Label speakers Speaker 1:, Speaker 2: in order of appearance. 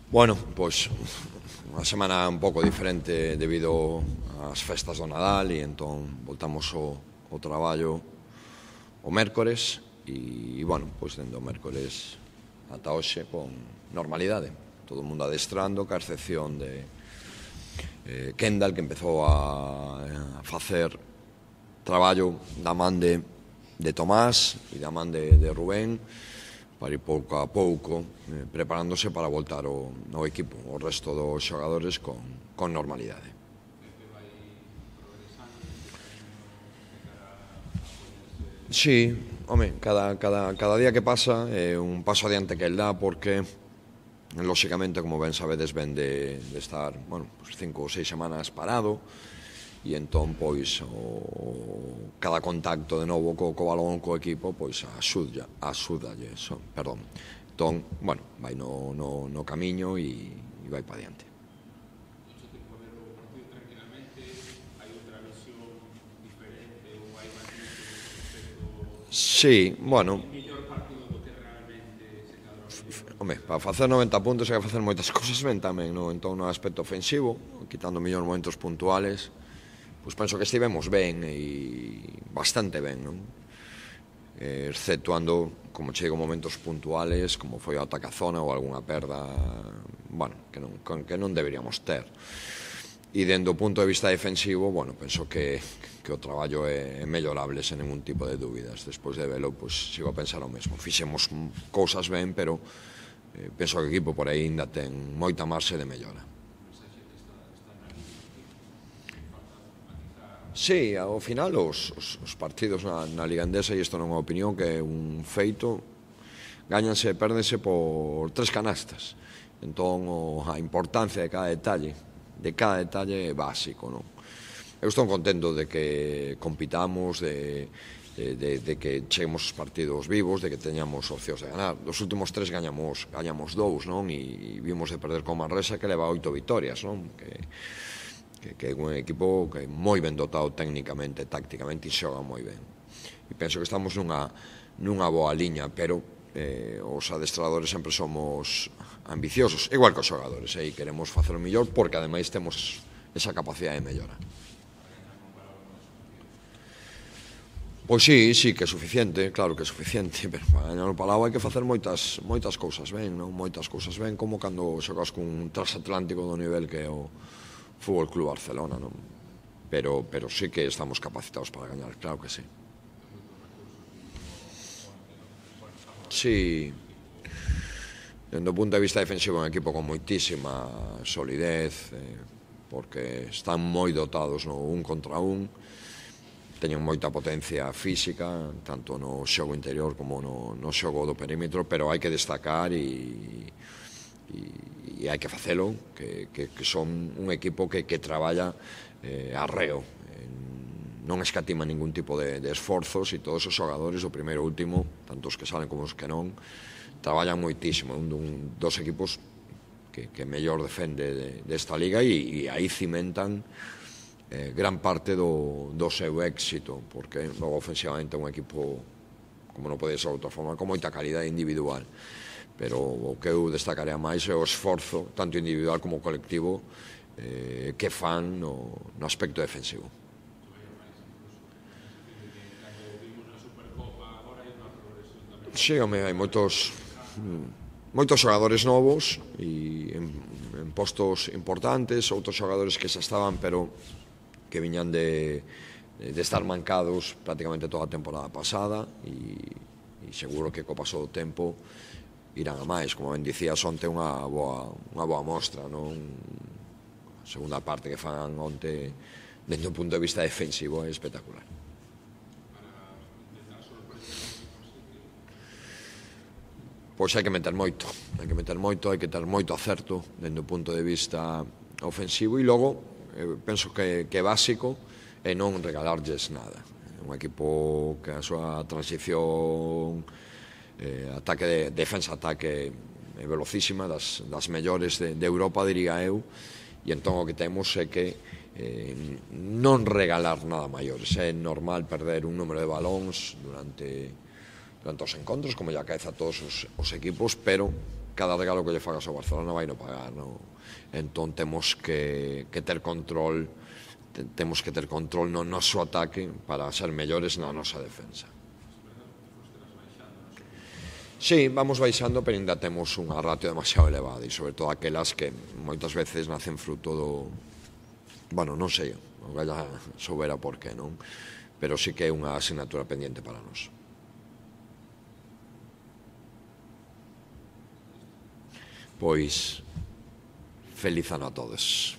Speaker 1: Bueno, pois unha semana un pouco diferente debido ás festas do Nadal e entón voltamos ao traballo o mércores e, bueno, pois dende o mércores ata hoxe con normalidade. Todo o mundo adestrando, ca excepción de Kendall, que empezou a facer traballo da man de Tomás e da man de Rubén, para ir pouco a pouco preparándose para voltar ao equipo, o resto dos xogadores con normalidade. Sí, home, cada día que pasa é un paso adiante que el dá, porque lóxicamente, como ben sabedes, ven de estar, bueno, 5 ou 6 semanas parado, e entón, pois, cada contacto de novo co balón, co equipo, pois, axúdalle, perdón. Entón, bueno, vai no camiño e vai para diante. Sí, bueno, home, para facer 90 puntos hai que facer moitas cousas ben tamén, no? Entón, no aspecto ofensivo, quitando millóns momentos puntuales, pois penso que estivemos ben e bastante ben, non? Exceptuando, como chego, momentos puntuales, como foi o ataque á zona ou algunha perda, bueno, que non deberíamos ter. E dende o punto de vista defensivo, bueno, penso que o traballo é mellorable sen ningún tipo de dúbidas. Despois de velo, pois sigo a pensar o mesmo. Fixemos cousas ben, pero penso que o equipo por aí ainda ten moita marxe de mellora. Sí, ao final os partidos na Liga Endesa, e isto non é unha opinión, que é un feito, gañanse e pérdense por 3 canastas. Entón, a importancia de cada detalle é básico, non? Eu estou contento de que compitamos, de que cheguemos os partidos vivos, de que teñamos opcións de ganar. Dos últimos 3 gañamos 2, non? E vimos de perder con Manresa, que leva 8 vitorias, non? Que é un equipo que é moi ben dotado técnicamente, tácticamente, e xoga moi ben. E penso que estamos nunha boa liña, pero os adestradores sempre somos ambiciosos, igual que os xogadores, e queremos facer o mellor, porque ademais temos esa capacidade de mellora. Pois sí que é suficiente, claro que é suficiente, pero para gañar o Palau hai que facer moitas cousas ben, non? Moitas cousas ben, como cando xogas cun transatlántico do nivel que é o Fútbol Club Barcelona, non? Pero sí que estamos capacitados para gañar, claro que sí. Sí, dende o punto de vista defensivo é un equipo con moitísima solidez, porque están moi dotados no un contra un, teñen moita potencia física, tanto no xogo interior como no xogo do perímetro, pero hai que destacar e hai que facelo, que son un equipo que traballa arreo, non escatima ningún tipo de esforzos, e todos os xogadores, o primeiro e o último, tanto os que salen como os que non, traballan moitísimo. Un dos equipos que mellor defende desta liga, e aí cimentan gran parte do seu éxito, porque logo ofensivamente é un equipo, como non pode ser de outra forma, con moita calidade individual. Pero o que eu destacaría máis é o esforzo, tanto individual como colectivo, que fan no aspecto defensivo. Sí, home, hai moitos xogadores novos e en postos importantes, outros xogadores que xa estaban, pero que viñan de estar mancados prácticamente toda a temporada pasada, e seguro que co paso do tempo irán a máis. Como ben dicías, onte unha boa mostra, non? A segunda parte que fan onte, dende o punto de vista defensivo, é espectacular. Pois hai que meter moito, hai que ter moito acerto dende o punto de vista ofensivo, e logo penso que é básico é non regalarlles nada. Un equipo que a súa transición defensa-ataque é velocísima, das mellores de Europa, diría eu, e entón o que temos é que non regalar nada maiores. É normal perder un número de balóns durante os encontros, como ya acaece a todos os equipos, pero cada regalo que lle fagas ao Barcelona vai no pagar, non? Entón temos que ter control, temos que ter control no noso ataque para ser mellores na nosa defensa. Sí, vamos baixando, pero ainda temos unha ratio demasiado elevada, e sobre todo aquelas que moitas veces nacen fruto do... Bueno, non sei, non galla soubera por qué, non? Pero sí que é unha asignatura pendiente para nós. Pois, feliz ano a todos.